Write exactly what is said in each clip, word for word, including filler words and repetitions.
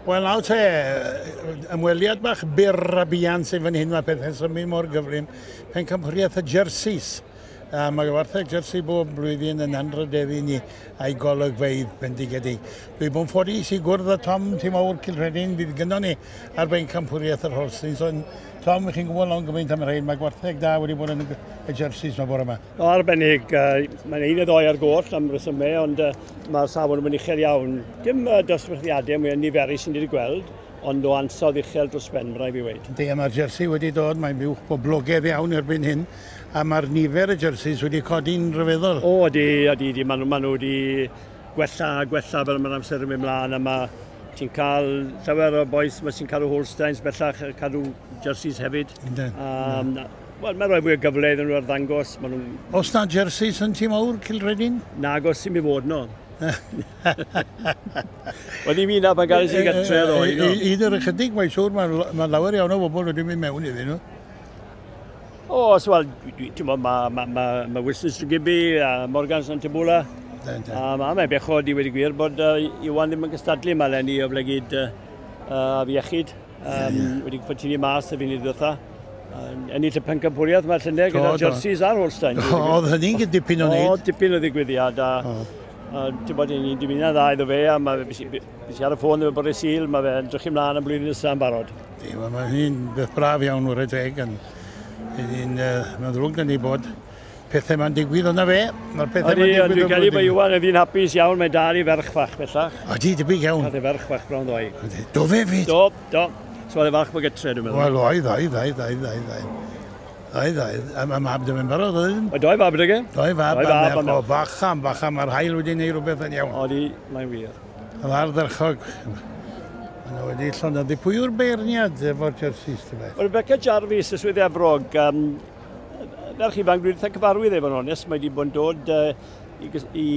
Wel nawr te, ymweliad bach byr a buan sy'n fan hyn, mae pethau'n symud mor gyflym. Pencampwriaeth y jerseys. A mae gwartheg jersey bob blwyddyn yn anrhydeddu ni a'i golygfeydd bendigedig. Dwi bod yn ffodus i gwrdd â Tom Tŷ Mawr Cilrhedyn fydd gynnon ni ar bencampwriaeth yr Holsteins. Ond Tom, chi'n gwybod lawn gymaint am rhain, mae gwartheg da wedi bod yn y jerseys yma bore yma. O, arbennig, uh, mae'n un neu ddoi ar goll am resymau, ond uh, mae'r safon yn uchel iawn. Dim uh, dosbarthiadau mwy niferus sy'n wedi gweld, ond o ansawdd uchel dros ben, rhaid fi weud. Yndi, a mae'r jersey wedi dod, mae'n fuwch boblogaidd iawn erbyn hyn, a mae'r nifer y jerseys wedi codi'n rhyfeddol. O, ydi, ydi, ydi, maen nhw, maen nhw wedi gwella a gwella fel mae'r amser yn mynd mlaen, a mae ti'n cael llawer o bois ma sy'n cadw Holsteins bellach, cadw jerseys hefyd. Yndyn. Um, Wel, mae'n rhoi fwy o gyfle iddyn nhw arddangos. Maen nhw'n Oes na jerseys yn Tŷ Mawr Cilrhedyn? Nagos sy'n mi fod no. Wel, ddim un na pan gael i gatre ddoe. no. Un o'r ychydig, mae'n siŵr, mae ma lawer iawn o bobl wedi mynd mewn iddyn nhw. O, so, wel, ti'n gwybod, mae ma, ma, ma Wilson Tregibby a Morgan Santibwla. A ma, mae'n bechod i wedi gwir bod uh, Iwan ddim yn cystadlu yma eleni o blegid uh, uh, afiechyd. Um, yeah, yeah. Wedi gorfod tynnu mas y funud ddiwetha. Uh, ennill y pencampwriaeth mae'r llynedd gyda'r jerseys a'r Holstein. Oedd hynny'n dipyn o wneud. O, dipyn o ddigwyddiad. A, a ti'n bod, ni'n dymuno'n dda iddo fe, a mae fe ar y ffôn efo bore Sul, mae fe'n drych ymlaen am blwyddyn nesaf yn barod. Mae hynny'n beth braf iawn wrth y teg. Mae'n ddrwg dyn ni bod pethau ma'n digwydd o'na fe. Mae'r pethau ma'n digwydd. Dwi'n credu bod Iwan yn ddyn hapus iawn, mae'n dal i ferch fach bellach. Odi, debyg iawn. Cael ei ferch fach bron ddoe. Do fe fyd? Do, do. So oedd e falch bod gytre, dwi'n meddwl. Wel, oedd, oedd, oedd, oedd, oedd, oedd. Oedd, oedd. A mae mab dim yn barod, oedd? O, doi fab ydych? Doi fab, a merch o bachan, bachan, mae'r haul wedi gwneud rhywbeth yn iawn. Odi, mae'n wir. Oedd ardderchog. Maen nhw wedi llonyddu. Pwy yw'r beirniad efo'r jerseys, ti'n beth? Rebecca Jarvis, y swydd Efrog, um, ferch ifanc, dwi'n eitha cyfarwydd efo'n onest, mae wedi bod yn dod uh, i, i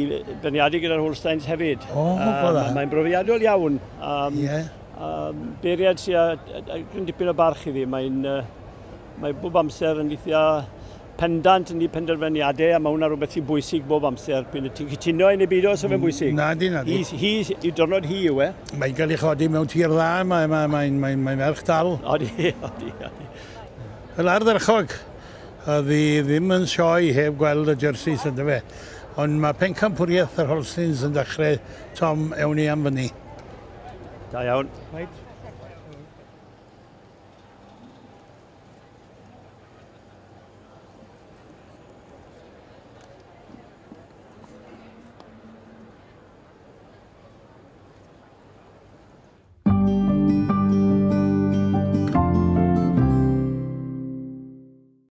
beirniadu gyda'r Holsteins hefyd. O, um, Mae'n brofiadol iawn. Um, yeah. Um, beirniad sy'n gryn dipyn o barch iddi, mae'n uh, mae bob amser yn eitha pendant yn ei penderfyniadau, a mae hwnna rhywbeth sy'n bwysig bob amser. Pyn ti'n cytuno i neu beidio, so fe'n bwysig. Na di, na di. Hi, hi, i diwrnod hi yw e. Mae'n cael ei chodi mewn tir dda, mae'n mae, mae, mae, mae merch dal. Odi, odi, odi. Fel ardderchog, oedd hi ddim yn sioe heb gweld y jerseys ynddo fe. Ond mae pencampwriaeth yr Holsteins yn dechrau, Tom, ewn ni am fyny. Da iawn. Right.